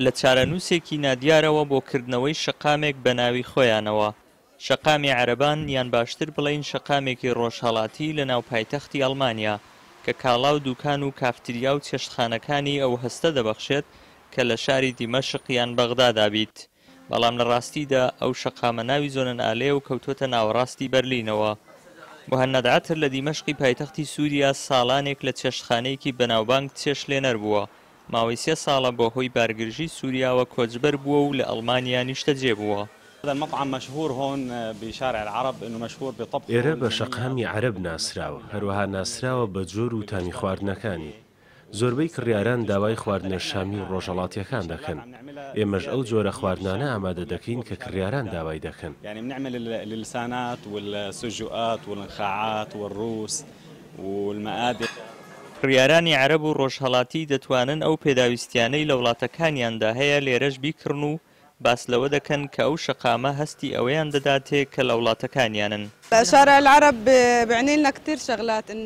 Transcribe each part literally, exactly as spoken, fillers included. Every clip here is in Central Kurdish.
لە چارەنووسێکی نادیارەوە بۆ کردنەوەی شەقامێک بە ناوی خۆیانەوە. شەقامی عەرەبان یان باشتر بڵێین شەقامێکی ڕۆژهەڵاتی لە ناو پایتەختی ئەڵمانیا کە کاڵا و دوکان و کافتریا و چێشتخانەکانی ئەو هەستە دەبەخشێت کە لە شاری دیمەشق یان بەغدادا بیت. بەڵام لە ڕاستیدا ئەو شەقامە ناوی زۆنەنئالەیە و کەوتووەتە ناوەڕاستی بەرلینەوە. موهەنەد عەتر لە دیمەشقی پایتەختی سووریا ساڵانێک لە چێشتخانەیەکی بەناوبانگ چێشتلێنەر بووە. ماوەی سێ ساڵە بە هۆی بارگرژی سووریاوە کۆچبەر بووە و لە ئەڵمانیا نیشتەجێ بووە. ئێرە بە شەقامی عەرەب ناسراوە، هەروەها ناسراوە بە جۆر و تامی خواردنەکانی. زۆربەی کڕیاران داوای خواردنە شامی و ڕۆژهەڵاتییەکان دەکەن. ئێمەش ئەو جۆرە خواردنانە ئامادە دەکەین کە کڕیاران داوای دەکەن. کڕیارانی عەرەب و ڕۆژهەڵاتی دەتوانن ئەو پێداویستیانەی لە وڵاتەکانیاندا هەیە لێرەش بیکڕن و باس لەوە دەکەن کە ئەو شەقامە هەستی ئەوەیان دەداتێ کە لە وڵاتەکانیانن.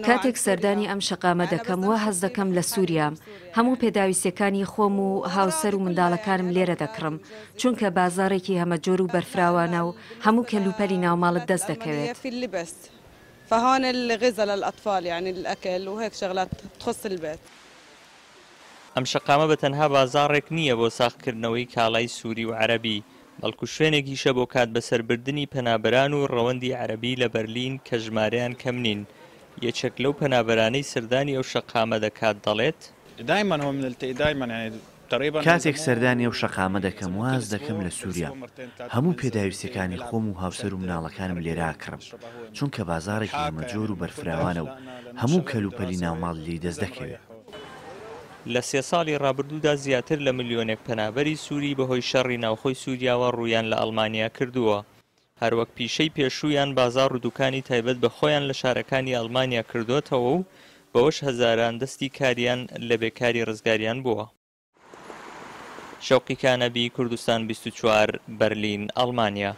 کاتێک سەردانی ئەم شەقامە دەکەم وا هەست دەکەم لە سووریام. هەموو پێداویستیەکانی خۆم و هاوسەر و منداڵەکانم لێرە دەکڕم، چونکە بازاڕێکی هەمەجۆر و بەرفراوانە و هەموو کەلوپەلی ناوماڵت دەست دەکەوێت. فهون الغذاء للأطفال يعني الأكل وهيك شغلات تخص البيت. ئەم شەقامە بە تەنها بازاڕێک نییە بۆ ساغکردنەوەی کاڵای سووری و عەرەبی، بەڵکو شوێنێکیشە بۆ کات بەسەربردنی پەنابەران و ڕەوەندی عەرەبی لە بەرلین کە ژمارەیان کەم نین. یەکێک لەو پەنابەرانەی سەردانی ئەو شەقامە دەکات دەڵێت: کاتێک سەردانی ئەو شەقامە دەکەم واز دەکەم لە سووریا. هەموو پێداویستیەکانی خۆم و هاوسەر و مناڵەکانم لێرە ئەکڕم، چونکە بازاڕێکی هەمەجۆر و بەرفراوانە و هەموو کەلوپەلی ناوماڵ لێی دەست دەکەوێت. لە سێ ساڵی ڕابردوودا زیاتر لە ملیۆنێک پەنابەری سووری بەهۆی شەڕی ناوخۆی سووریاوە ڕوویان لە ئەڵمانیا کردووە. هەروەک پیشەی پێشوویان بازاڕ و دوکانی تایبەت بە خۆیان لە شارەکانی ئەڵمانیا کردووەتەوە و بەوەش هەزاران دەستی کاریان لە بێکاری ڕزگاریان بووە. شەوقی کانەبی، کوردستان بیست و چوار، بەرلین، ئەڵمانیا.